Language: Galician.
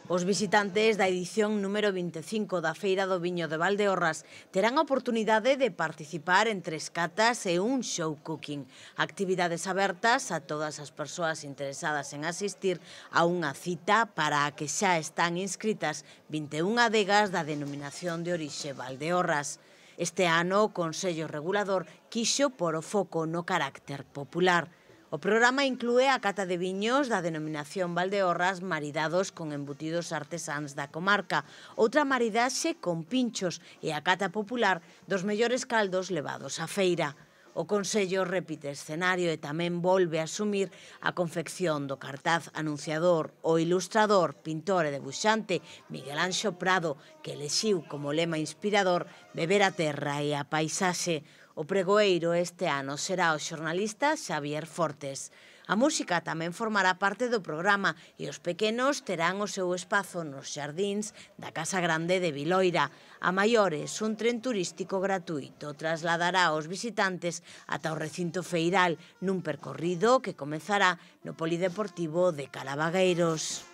Os visitantes da edición número 25 da Feira do Viño de Valdeorras terán a oportunidade de participar en 3 catas e un show cooking. Actividades abertas a todas as persoas interesadas en asistir a unha cita para a que xa están inscritas 21 adegas da denominación de orixe Valdeorras. Este ano o Consello Regulador quixo por o foco no carácter popular. O programa inclúe a cata de viños da denominación Valdeorras maridados con embutidos artesáns da comarca, outra maridaxe con pinchos e a cata popular dos mellores caldos levados á feira. O Consello repite escenario e tamén volve a asumir a confección do cartaz anunciador o ilustrador, pintor e debuxante Miguel Anxo Prado, que elixiu como lema inspirador beber a terra e a paisaxe. O pregoeiro este ano será o xornalista Xavier Fortes. A música tamén formará parte do programa e os pequenos terán o seu espazo nos xardíns da Casa Grande de Viloira. A maiores, un tren turístico gratuito trasladará os visitantes ata o recinto feiral nun percorrido que comezará no Polideportivo de Calabagueiros.